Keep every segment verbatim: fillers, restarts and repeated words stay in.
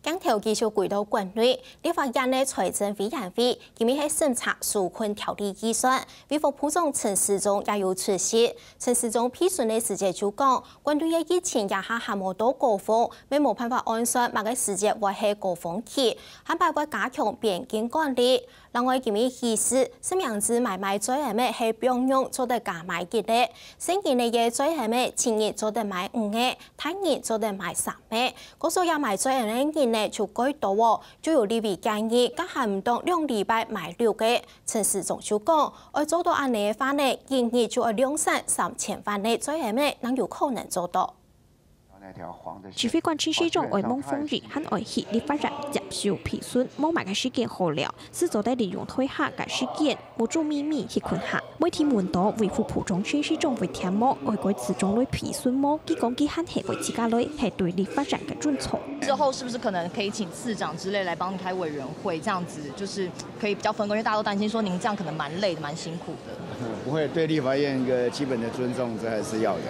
鏡頭繼續歸到國內，立法院个財政委員會今日係審查紓困條例預算，衛福部長陳時中也有出席。陳時中被詢个時節就講，國內个疫情這下還無到高峰，乜無辦法按算麼个時節會係高峰期，下擺會加強邊境管理。另外，今日起司實名制買賣嘴緪仔係放量做得加買一个，細人仔个嘴緪仔，成人做得買五个，大人做得買三个。 故所也買嘴緪仔个人呢就較多哦，就有立委建議，加限毋到兩禮拜買六个。陳時中就講，愛做到恁呢个話呢，一日就愛量產三千萬个嘴緪仔，正有可能做到。指揮官陳時中愛望防疫，還愛去立法院接受質詢，無麼个時間好尞，只做得利用台下个時間， 目珠眯眯去睏下。媒體問到衛福部長陳時中會添無，愛改次長來質詢無？佢講佢還係會自家來，係對立法院个尊重。之後是不是可能可以請次長之類來幫你開委員會，這樣子就是可以比較分工，因為大家都擔心說您這樣可能蠻累的、蠻辛苦的。不會，對立法院一個基本的尊重，這還是要的。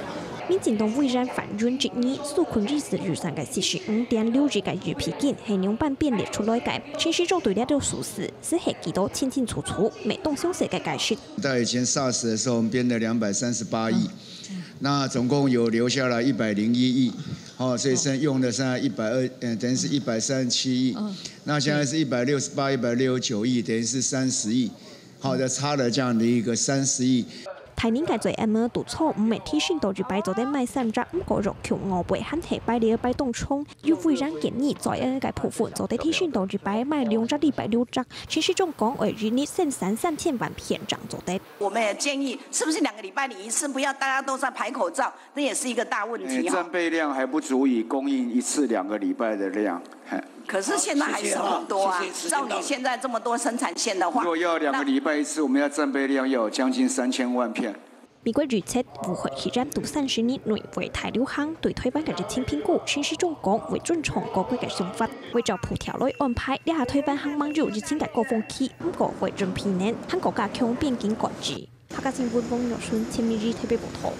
民進黨委員范雲質疑，紓困二十二三个四十五點六億个預備金係仰般編列出來个？陳時中對這條數字 實係記到清清楚楚，無當詳細个解釋。在以前SARS的時候，我們編了兩百三十八億，那總共有留下來一百零一億，哦，所以剩用的剩下一百二，嗯，等於是一百三十七億。那現在是一百六十八、一百六十九億，等於是三十億，好，就差了這樣的一個三十億。大人个嘴緪仔堵著，毋係天生到一擺做得買三隻，毋過若窮外背還係排列排當長。 有委員建議，嘴緪仔个部分做得天生到一擺買兩隻禮拜六隻，陳時中講愛一日生產三千萬片正做得。我們也建議，是不是兩個禮拜領一次，不要大家都在排口罩，那也是一個大問題哈。戰備量還不足以供應一次兩個禮拜的量。可是現在還是很多啊，照你現在這麼多生產線的話，如果要兩個禮拜一次，我們要戰備量要有將近三千萬片。 美國預測，武漢肺炎到三十日內會大流行，對台灣个疫情評估，陳時中講會尊重各國个想法，會照步調來安排。這下台灣還吂有疫情个高峰期，毋過會準備呢，還過加強邊境管制。客家新聞王玉順、陳明儀特別報導。